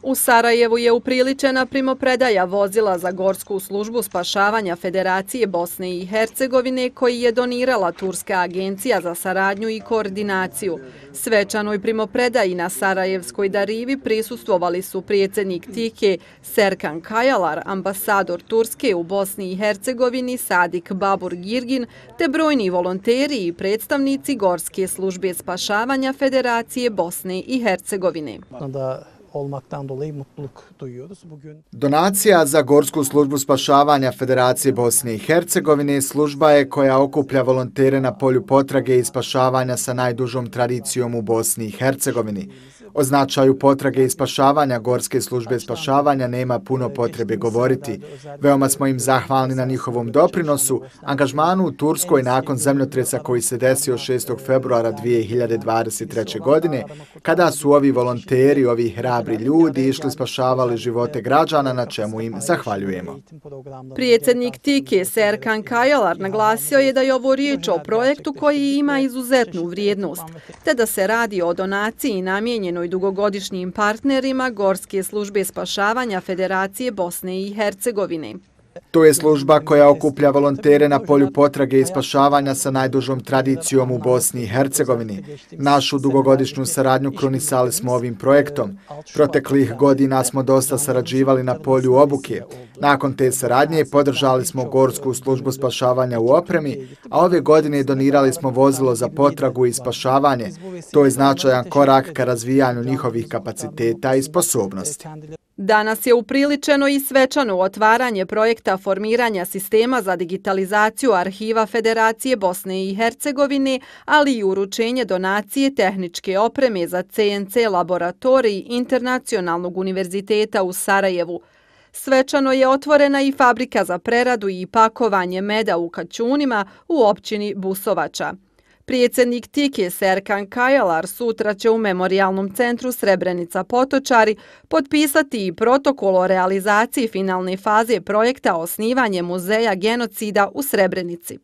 U Sarajevu je upriličena primopredaja vozila za Gorsku službu spašavanja Federacije Bosne i Hercegovine koji je donirala Turska agencija za saradnju i koordinaciju. Svečanoj primopredaji na Sarajevskoj Darivi prisustvovali su predsjednik TİKE Serkan Kayalar, ambasador Turske u Bosni i Hercegovini Sadik Babur Girgin te brojni volonteri i predstavnici Gorske službe spašavanja Federacije Bosne i Hercegovine. Olmaktan dolayı mutluluk duyuyoruz. Donacija za Gorsku službu spašavanja Federacije Bosne i Hercegovine služba je koja okuplja volontere na polju potrage i spašavanja sa najdužom tradicijom u Bosni i Hercegovini. O značaju potrage i spašavanja Gorske službe spašavanja nema puno potrebe govoriti. Veoma smo im zahvalni na njihovom doprinosu, angažmanu u Turskoj nakon zemljotresa koji se desio 6. februara 2023. godine, kada su ovi volonteri, ovi hrabri ljudi išli spašavali živote građana, na čemu im zahvaljujemo. Predsjednik TİKE Serkan Kayalar naglasio je da je ovo riječ o projektu koji ima izuzetnu vrijednost, te da se radi o donaciji namijenjenoj dugogodišnjim partnerima Gorske službe spašavanja Federacije Bosne i Hercegovine. To je služba koja okuplja volontere na polju potrage i spašavanja sa najdužom tradicijom u Bosni i Hercegovini. Našu dugogodišnju saradnju krunisali smo ovim projektom. Proteklih godina smo dosta sarađivali na polju obuke. Nakon te saradnje podržali smo Gorsku službu spašavanja u opremi, a ove godine donirali smo vozilo za potragu i spašavanje. To je značajan korak ka razvijanju njihovih kapaciteta i sposobnosti. Danas je upriličeno i svečano otvaranje projekta formiranja sistema za digitalizaciju arhiva Federacije Bosne i Hercegovine, ali i uručenje donacije tehničke opreme za CNC laboratorij Internacionalnog univerziteta u Sarajevu. Svečano je otvorena i fabrika za preradu i pakovanje meda u Kaćunima u općini Busovača. Predsjednik TİKE Serkan Kayalar sutra će u Memorijalnom centru Srebrenica Potočari potpisati i protokol o realizaciji finalne faze projekta osnivanje muzeja genocida u Srebrenici.